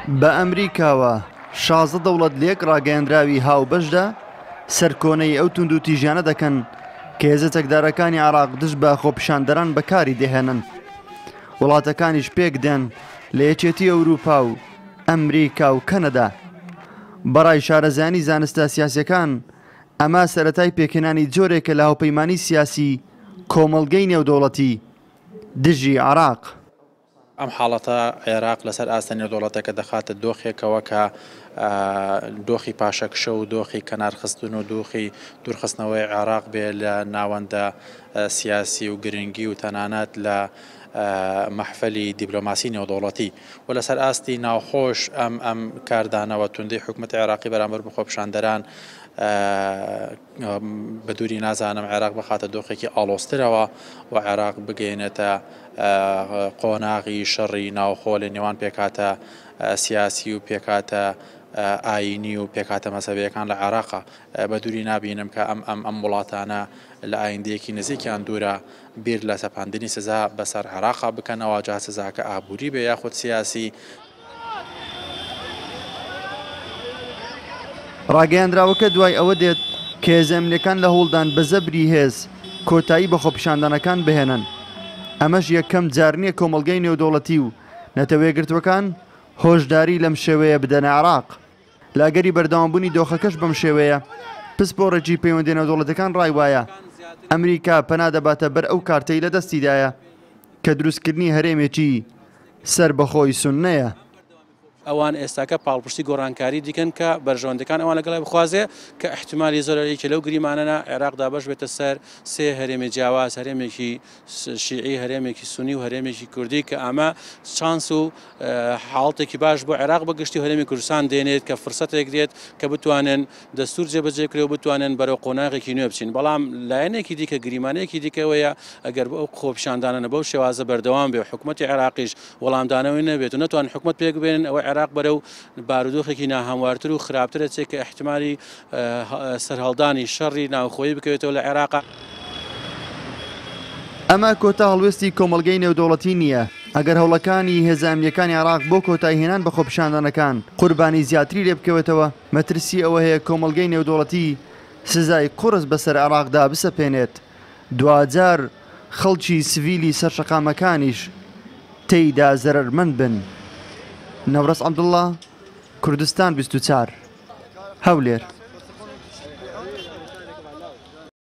بە ئەمریکاوە، 16 دەوڵەت لە یەک ڕاگەیەندراوی هاوبەشدا سەرکۆنەی ئەو توندوتیژیانە دەکەن کە هێزە چەکدارەکانی عێراق دژ بە خۆپیشاندەران بەکاری دەهێنن. وڵاتەکانیش پێکدێن لە یەکێتی ئەوروپا و ئەمریکا و کەنەدا. بەڕای شارەزایانی زانستە سیاسیەکان ئەمە سەرەتای پێکهێنانی جۆرێکە لە هاوپەیمانی سیاسی کۆمەڵگەی نێودەوڵەتی دژی عێراق. ئەم حاڵەتە عێراق لەسەر ئاستە نێودەوڵەتەکە دەخاتە دۆخێکەوە کە دۆخی پاشەکشە و دۆخی کەنارخستن و دۆخی دوورخستنەوەی عێراق بێ لە ناوەندە سیاسی و گرنگی و تەنانەت لە مەحفەلی دیبلۆماسی نێودەوڵەتی و لەسەر ئاستی ناوخۆش ئەم ئەم کاردانەوە توندەی حکومەتی عێراقی بەرامبەر بە خۆپیشاندەران بە دووری نازانم عێراق بخاتە دۆخێکی ئاڵۆزترەوە و عێراق بگەیەنێتە قۆناغی شەڕی ناوخۆ لە نێوان پێکهاتە سیاسی و پێکهاتە ئایینی و پێکهاتە مەزهەبییەکان لە عێراقا. بە دووری نابینم کە ئەم ئەم ئەم وڵاتانە لە ئایندەیەکی نزیک یان دوورا بیر لە سەپاندنی سزا بەسەر عێراقا بکەنەوە، جا سزاکە ئابووری بێ یاخود سیاسی. ڕاگەیاندراوەکە دوای ئەوە دێت کە هێزە ئەمنییەکان لە هەوڵدان بە زەبری هێز کۆتایی بە خۆپیشاندانەکان بهێنن، ئەمەش یەکەم جار نییە کۆمەڵگەی نێودەوڵەتی و نەتەوەیەکگرتووەکان هۆشداری لەم شێوەیە بدەنە عێراق. لە ئەگەری بەردەوامبوونی دۆخەکەش بەم شێوەیە، پسپۆڕێکی پەیوەندیە نێودەوڵەتیەکان ڕای وایە ئەمریکا پەنا دەباتە بەر ئەو کارتەی لە دەستیدایە کە دروستکردنی هەرێمێکی سەربەخۆی سوننەیە. ئەوان ئێستاکە پاڵپشتی گۆڕانکاری دیکەن کە بەرژەوەندەکان ئەوان لەگەڵی بخوازێ کە ئیحتیمالی زۆرە یەکێ لەو گریمانەنا عێراق دابەش بێتە سەر سێ هەرێمی جیاواز هەرێمێکی شیعی هەرێمێکی سونی و هەرێمێکی کوردی کە ئەمە چانس و حاڵتێکی باش بۆ عێراق بە گشتی و هەرێمی کوردستان دێنێت کە فرسەتێک دێت کە بتوانن دەستور جێبەجێ بکرێ و بتوانن بەرەو قۆناغێکی نوێ بچین بەڵام لایەنێکی دیکە گریمانەیەکی دیکەوەیە ئەگەر ئەو خۆپیشاندانە بەو شێوازە بەردەوام بێ و حکوومەتی عێراقیش وەڵامدانەوەی نەبێت و نەتوان حکوومەت پێک بێنن ئەوە عێراق بەرەو بارودۆخێکی ناهەموارتر و خراپترە چێ کە ئیحتیمالی سەرهەڵدانی شەڕی ناوخۆیی بکەوێتەوە لە عێراق. ئەمە کۆتا هەڵوێستی کۆمەڵگەی نێودەوڵەتی نییە، ئەگەر هەوڵەکانی هێزە ئەمنییەکانی عێراق بۆ کۆتاییهێنان بە خۆپیشاندانەکان قوربانی زیاتری لێبکەوێتەوە، مەترسی ئەوە هەیە کۆمەڵگەی نێودەوڵەتی سزای قورس بەسەر عێراقدا بسەپێنێت، دواجار خەڵکی سڤیلی سەر شەقامەکانیش تێیدا زەرەرمەند بن. نەورەس عەبدوڵڵا، کوردستان 24، هەولێر.